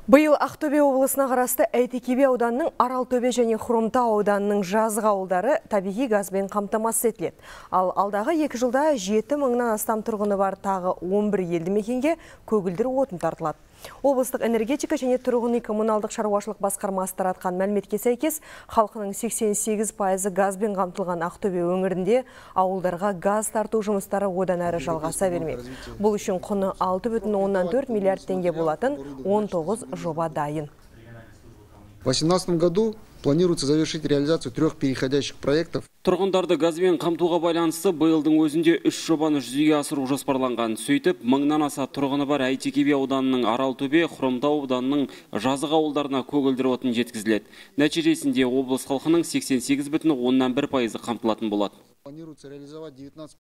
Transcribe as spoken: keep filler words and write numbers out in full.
Биыл Ақтөбе облысына қарасты Әйтеке би ауданының Аралтөбе және Хромтау ауданының жазғы ауылдары табиғи газбен қамтамасыз етіледі. Ал алдағы екі жылда жеті мыңнан астам тұрғыны бар тағы он бір елді мекенге көгілдір отын тартылады. Облыстық энергетика және тұрғын үй коммуналдық шаруашылық басқармасы таратқан мәліметке сәйкес, халқының сексен сегіз пайызы газбен қамтылған Ақтөбе өңірінде ауылдарға газ тарту жұмыстары одан әрі жалғаса бермек. Бұл үшін құны алты бүтін оннан төрт миллиард теңге болатын он тоғыз жоба дайын. В две тысячи восемнадцатом году планируется завершить реализацию трех переходящих проектов. Тұрғындарды газбен қамтуға байланысты биылдың өзінде үш жобаны жүзеге асыру жоспарланған. Сөйтіп, мыңнан аса тұрғыны бар Әйтеке би ауданының Аралтөбе, Хромтау ауданының жазық ауылдарына көгілдір отын жеткізіледі. Нәтижесінде облыс халқының сексен сегіз бүтін оннан бір пайызы қамтылатын болады. Планируется реализовать девятнадцать